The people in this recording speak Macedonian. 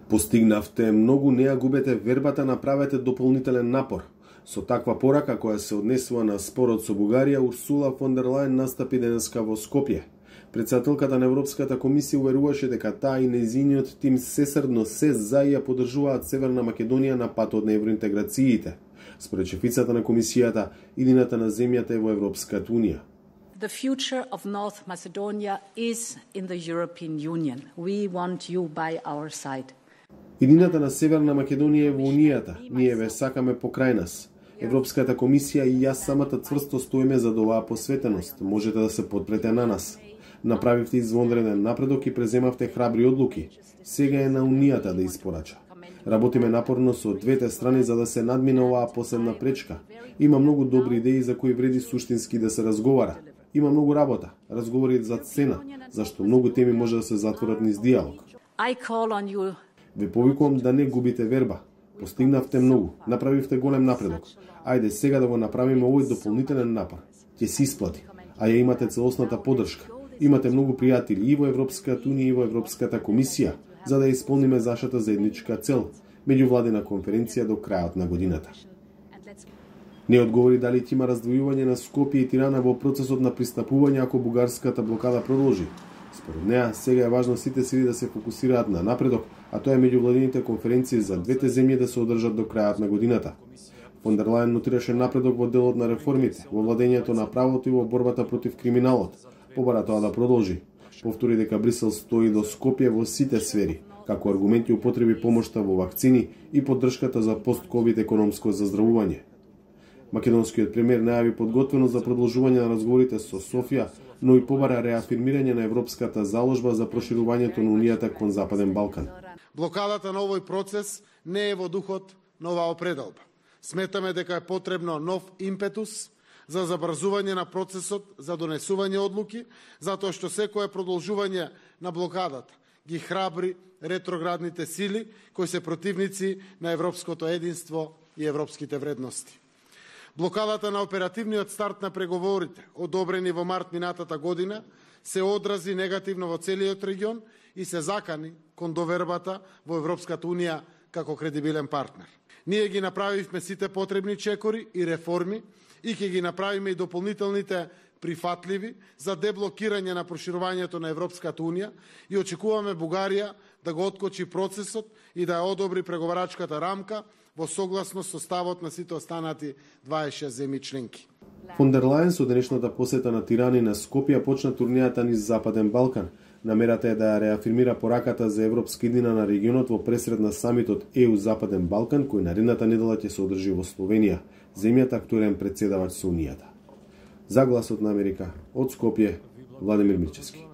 Постигнавте многу, не ја губете вербата, направете дополнителен напор. Со таква порака која се однесува на спорот со Бугарија, Урсула фон дер Лајен настапи денеска во Скопје. Председателката на Европската комисија уверуваше дека таа и нејзиниот тим сесрдно се за и ја поддржуваат Северна Македонија на патот на евроинтеграциите. Според шефицата на комисијата, иднината на земјата е во Европската унија. The future of North Macedonia is in the European Union. We want you by our side. Иднината на Северна Македонија е во Унијата. Ние ве сакаме покрај нас. Европската комисија и јас самата цврсто стоиме за оваа посветеност. Можете да се подпрете на нас. Направивте извонреден напредок и преземавте храбри одлуки. Сега е на Унијата да испорача. Работиме напорно со двете страни за да се надмине оваа последна пречка. Има многу добри идеи за кои вреди суштински да се разговара. Има многу работа, разговори за цена, зашто многу теми може да се затворат низ диалог. Ве повикувам да не губите верба. Постигнавте многу, направивте голем напредок. Ајде сега да го направиме овој дополнителен напор. Ќе се исплати, а ја имате целосната поддршка. Имате многу пријатели и во Европската унија и во Европската комисија, за да ја исполниме нашата заедничка цел, меѓувладина конференција до крајот на годината. Не одговори дали ќе има раздвојување на Скопје и Тирана во процесот на пристапување ако бугарската блокада продолжи. Според неа, сега е важно сите сили да се фокусираат на напредок, а тоа е меѓувладините конференции за двете земји да се одржат до крајот на годината. Фон дер Лајен нотираше напредок во делот на реформите, во владењето на правото и во борбата против криминалот. Побара тоа да продолжи. Повтори дека Брисел стои до Скопје во сите сфери, како аргументи употреби помошта во вакцини и поддршката за пост-ковид економско заздравување. Македонскиот премиер најави подготвеност за продолжување на разговорите со Софија, но и побара реафирмирање на европската заложба за проширувањето на Унијата кон Западен Балкан. Блокадата на овој процес не е во духот на оваа определба. Сметаме дека е потребно нов импетус за забрзување на процесот за донесување одлуки, затоа што секое продолжување на блокадата ги храбри ретроградните сили кои се противници на европското единство и европските вредности. Блокадата на оперативниот старт на преговорите, одобрени во март минатата година, се одрази негативно во целиот регион и се закани кон довербата во Европската унија како кредибилен партнер. Ние ги направивме сите потребни чекори и реформи и ќе ги направиме и дополнителните прифатливи за деблокирање на проширувањето на Европската унија и очекуваме Бугарија да го откочи процесот и да ја одобри преговарачката рамка во согласност со ставот на сите останати 26 земји членки. Фон дер Лајен со денешната посета на Тирана и на Скопје почна турнијата низ Западен Балкан. Намерата е да ја реафирмира пораката за европска иднина на регионот во пресред на самитот ЕУ Западен Балкан, кој наредната недела ќе се одржи во Словенија, земјата актуелен претседавач со Унијата. За Гласот на Америка, од Скопје, Владимир Мирчевски.